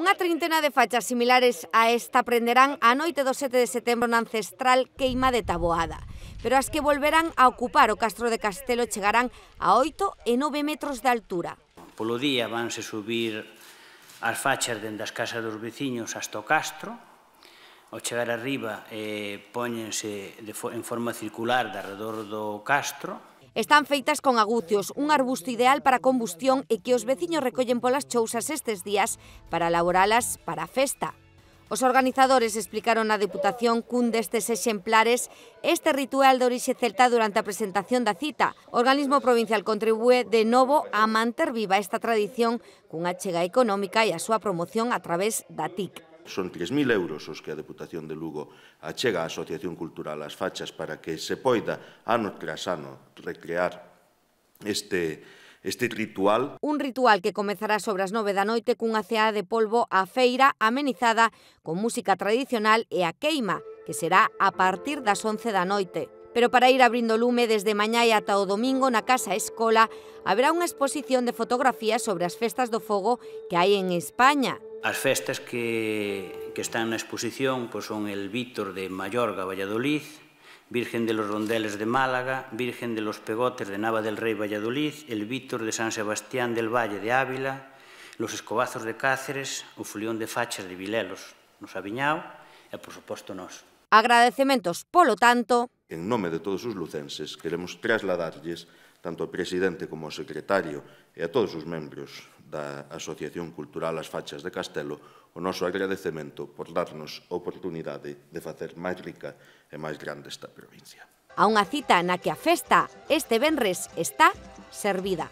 Unha trintena de fachas similares a esta prenderán a noite do 7 de setembro na ancestral queima de Taboada. Pero as que volverán a ocupar o Castro de Castelo chegarán a 8 e 9 metros de altura. Polo día vanse subir as fachas dende as casas dos veciños hasta o Castro. Ao chegar arriba póñense en forma circular de arredor do Castro. Están feitas con agucios, un arbusto ideal para combustión e que os veciños recollen polas chousas estes días para elaboralas para a festa. Os organizadores explicaron na Deputación cun destes exemplares este ritual de orixe celta durante a presentación da cita. O organismo provincial contribúe de novo a manter viva esta tradición cunha achega económica e a súa promoción a través da TIC. Son 3.000 euros os que a Deputación de Lugo achega á Asociación Cultural As Fachas para que se poida, ano tras ano, recrear este ritual. Un ritual que comezará sobre as 9 da noite cunha ceada de polvo á feira amenizada con música tradicional e a queima, que será a partir das 11 da noite. Pero para ir abrindo lume desde mañá e ata o domingo na Casa Escola haberá unha exposición de fotografías sobre as festas do fogo que hai en España. As festas que están na exposición son el Vítor de Mallorca, Valladolid, Virgen de los Rondeles de Málaga, Virgen de los Pegotes de Nava del Rey, Valladolid, el Vítor de San Sebastián del Valle de Ávila, los Escobazos de Cáceres, o Fulión de Fachas de Vilelos, no Sabiñao e, por suposto, nós. Agradecementos, polo tanto. En nome de todos os lucenses, queremos trasladarlles tanto ao presidente como ao secretario e a todos os membros da Asociación Cultural As Fachas de Castelo o noso agradecemento por darnos a oportunidade de facer máis rica e máis grande esta provincia. A unha cita na que a festa este venres está servida.